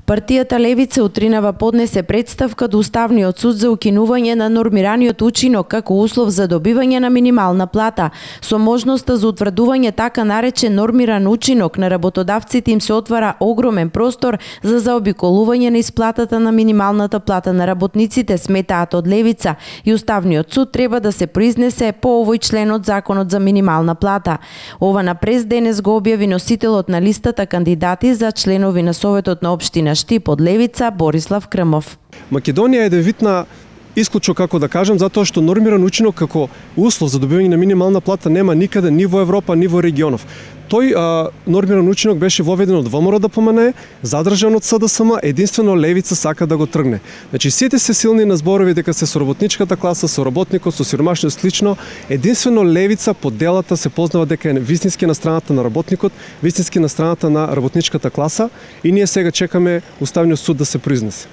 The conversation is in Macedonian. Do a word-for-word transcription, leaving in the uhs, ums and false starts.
Партијата Левица утринава поднесе представка до Уставниот суд за укинување на нормираниот учинок како услов за добивање на минимална плата. Со можноста за утврдување така наречен нормиран учинок на работодавците им се отвара огромен простор за заобиколување на исплатата на минималната плата на работниците, сметаат од Левица, и Уставниот суд треба да се произнесе по овој член од Законот за минимална плата. Ова на прес денес го објави носителот на листата кандидати за членови на Советот на општина Штип од Левица, Борислав Крмов. Македонија е девитна исклучок, како да кажем, затоа што нормиран учинок како услов за добивање на минимална плата нема никаде, ни во Европа, ни во регионов. Тој а, нормиран учинок беше воведен од ВМРО да помане, задржан од СДСМ, единствено Левица сака да го тргне. Значи сите се силни на зборови дека се со работничката класа, со работникот, со сиромашниот слично, единствено Левица по делата се познава дека е вистински на страната на работникот, вистински на страната на работничката класа, и ние сега чекаме Уставниот суд да се произнесе.